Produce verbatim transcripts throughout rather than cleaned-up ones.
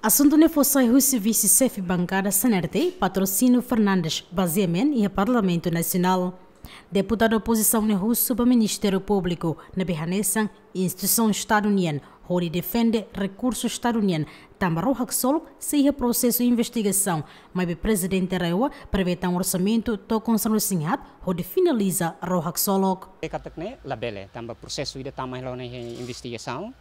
Asuntu ne'e fó sai husi vise-xefe bankada C N R T, Patrocínio Fernandes, bazeia-an iha Parlamentu Nasionál. Deputadu opozisaun ne'e husu ba Ministériu Públiku ne'ebé hanesan instituisaun Estadu nian hodi defende rekursu Estadu nian tanba ró haksolok sei iha prosesu investigasaun, maibé Prezidente RAEOA prevee tan orsamentu to'o konsa resin haat hodi finaliza ró haksolok. Katak ne'e labele, tanba prosesu ida tama hela ona iha investigasaun,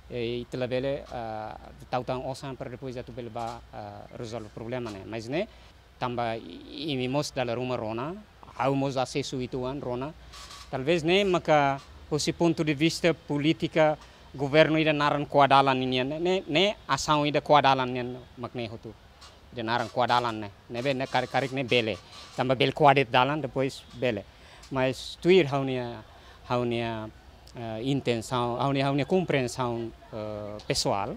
eh, ita labele, ah, tau tan osan para depois atu bele bá, ah, rezolve problema ne'e. Mas ne'e, tanba i-, imi mós dala ruma rona, ha'u mós asesu uitoan rona. Talvés ne'e maka husi pontu de vista polítika governu ida naran ko'a-dalan nian ne'e, ne'e, ne'e asaun ida ko'a-dalan nian mak ne'e hotu. Ida naran ko'a-dalan ne'e, ne'ebé ne'e karik, karik ne'e bele. Tanba bele ko'a de'it dalan, depois bele. Mas tuir ha'u-nia, ha'u-nia, eh, intensaun, ha'u-nia, ha'u-nia komprensaun, eh, pesoál,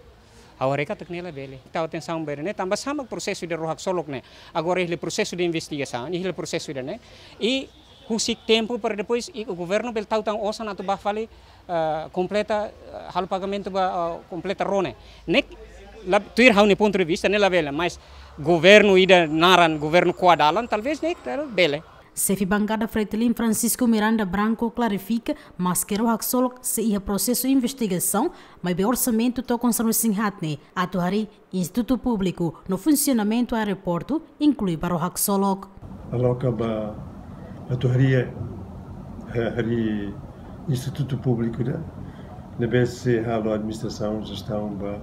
ha'u haree katak ne'e labele. Tau atensaun bele ne'e, tanba sá mak prosesu de ró haksolok ne'e. Agora iha prosesu de investigasaun, iha prosesu ida ne'e. I husik tempu para depois i governu bele tau tan osan atu bá fali, eh, kompleta, eh, halo pagamentu ba, eh, kompleta ró ne'e. Ne'e la, tuir ha'u-nia pontu de vista ne'e labele, mas governu ida naran governu ko'a-dalan, talvés ne'e, tal, bele. Xefe bankada Fretilin Francisco Miranda Branco klarifika, maske ró haksolok sei iha prosesu investigasaun, maibé orsamentu to'o konsa resin haat ne'e atu harii institutu públiku no funsionamentu aeroportu, inklui ba ró haksolok. Aloka ba atu harii, eh, harii institutu públiku ida ne'ebé sei halo administrasaun, jestaun ba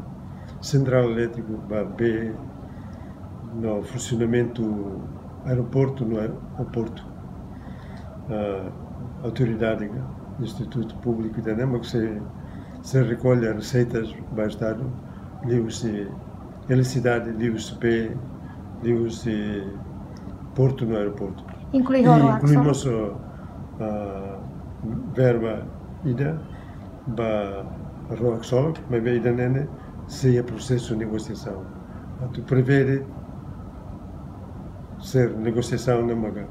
sentrál elétriku, ba bee, no funsionamentu aeroportu no aeroportu. Ah, autoridade, institutu públiku ida ne'e mak sei, sei rekolla reseitas ba Estadu, liuhusi eletrisidade, liuhusi bee, liuhusi portu no aeroportu. Inklui, i ró haksolok, inklui mós, ah, verba ida ba ró haksolok, maibé ida ne'e ne'e sei iha prosesu negosiasaun. Atu prevee de'it, sei negosiasaun ne'e maka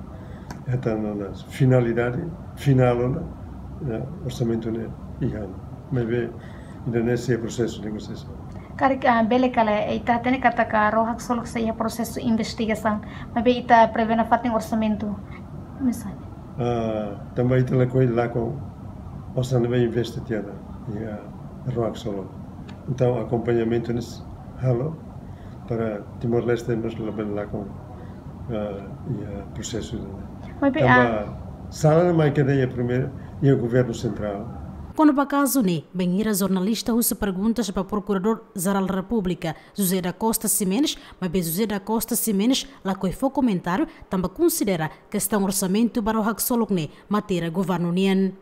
hetan ona finalidade, finál ona, ya, orsamentu ne'e iha ona. Maibé ida ne'e sei iha prosesu negosiasaun. Karik, ah, bele ka lae, ita hatene katak ró haksolok sei iha prosesu investigasaun, maibé ita prevee nafatin orsamentu, misalnya. Ah, tanba ita lakohi lakon osan ne'ebé investe tiha ona iha ró haksolok. Entaun, akompañamentu ne'e sei halo para Timor-Leste mós labele lakon, ah, iha prosesu ne'e. Maibé, tanba, ah, sala ne'e mai kedas iha primeiru, iha governu sentrál. Kona-ba kazu ne'e, bainhira jornalista husu perguntas ba Prokuradór Jerál Repúblika, José da Costa Ximenes, maibé José da Costa Ximenes lakohi fó komentáriu, tanba konsidera kestaun orsamentu ba ró haksolok ne'e matéria governu nian.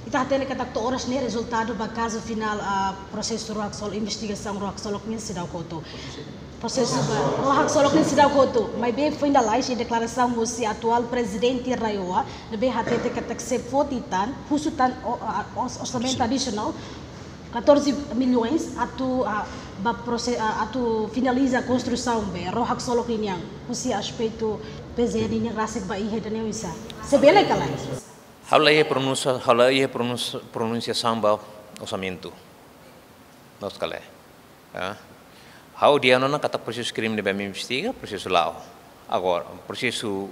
Ita hatene katak to'o oras ne'e rezultadu ba kazu finál, ah, prosesu ró haksolok, investigasaun ró haksolok nian seidauk hotu. Prosesu ba ró haksolok nian seidauk hotu. Maibé foin lalais iha deklarasaun husi atuál prezidente RAEOA, ne'ebé hatete katak sei foti tan, husu tan, o, ah, os-, orsamentu adisionál, catorze milhões atu, ah, ba prose-, ah, atu finaliza konstrusaun ba ró haksolok ninian, husi aspetu P J E ninian rasik ba iha ida ne'e oinsá. Se bele ka lae? Ha'u la iha pronúnsia, ha'u la iha pronúnsia, pronunsiasaun ba orsamentu. Loos ka lae? Ah. Ha'u dehan ona katak prosesu krime ne'ebé ami investiga, prosesu la'o. Agora, prosesu,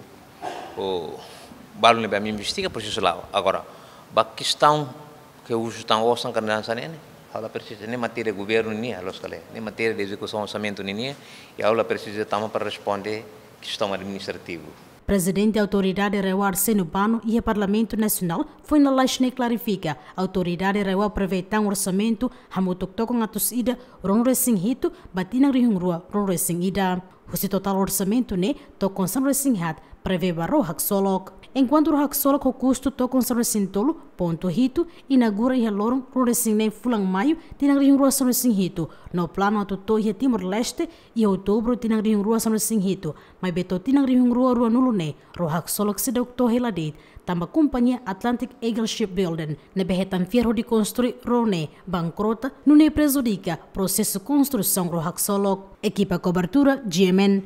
o, balu ne'ebé ami investiga, prosesu la'o. Agora, ba kestaun ke husu tan osan ka hanesan ne'e, ha'u la presiza, ne'e matéria governu nian, loos ka lae. Ne'e matéria de ezekusaun orsamentu ninian, i ha'u la presiza tama para responde kestaun administrativu. Prezidente Autoridade RAEOA Arsénio Bano iha Parlamentu Nasionál foin lalais ne'e klarifika, Autoridade RAEOA prevee tan orsamentu hamutuk tokon atus ida ruanulu resin hitu ba tinan rihun rua ruanulu resin ida. Husi totál orsamentu ne'e, tokon sanulu resin haat prevee ba ró haksolok. Enkuantu ró haksolok ho kustu tokon sanulu resin tolu pontu hitu inaugura iha loron ruanulu resin neen fulan Maiu tinan rihun rua sanulu resin hitu, no planu atu to'o iha Timor-Leste iha Outubru tinan rihun rua sanulu resin hitu, maibé to'o tinan rihun rua ruanulu ne'e, ró haksolok seidauk to'o hela de'it, tanba kompañia Atlantic Eagle Shipbuilding ne'ebé hetan fiar hodi konstrui ró ne'e bankrota, nune'e prejudika prosesu konstrusaun ró haksolok. Ekipa kobertura, G M N,